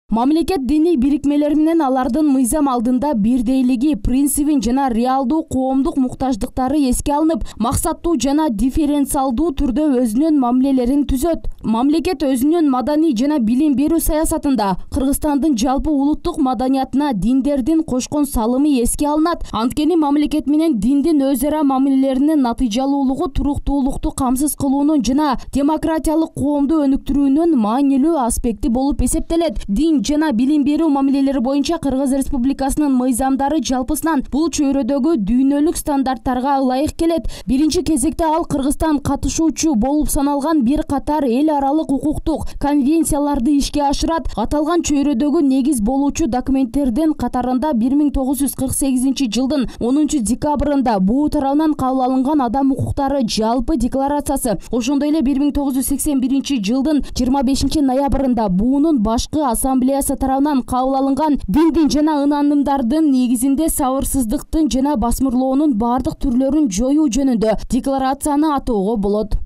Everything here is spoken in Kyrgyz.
Мамлекет диний бирикмелер менен алардын мыйзам алдында бирдейлиги принцибин жана реалдуу коомдук муктаждыктары эске алынып, максаттуу жана дифференциалдуу түрдө өзүнүн мамилелерин түзөт. Мамлекет өзүнүн маданий жана билим берүү саясатында Кыргызстандын жалпы улуттук маданиятына диндердин кошкон салымы эске алынат. Анткени мамлекет менен диндин өз ара мамилелеринин натыйжалуулугу туруктуулукту камсыз кылуунун жана демократиялык коомду өнүктүрүүнүн маанилүү аспекти болуп эсептелет. Дин жана билим берүү мамилелери боюнча Кыргыз Республикасынын мыйзамдары жалпысынан бул чөйрөдөгү дүйнөлүк стандарттарга ылайык келет. Биринчи кезекте ал Кыргызстан катышуучу болуп саналган бир катар эл аралык укуктук конвенцияларды ишке ашырат. Аталган чөйрөдөгү негиз болуучу документтердин катарында 1948 жылдын 10 декабрында БУ тарабынан кабыл алынган адам укуктары жалпы декларациясы, ошондой эле 1981 жылдын 25 ноябрында БУнун башкы ассамблеясы тарабынан кабыл алынган диндин жана ынанымдардын негизинде сабырсыздыктын жана басмырлоонун бардык түрлөрүн жоюу жөнүндө декларацияны атоого болот.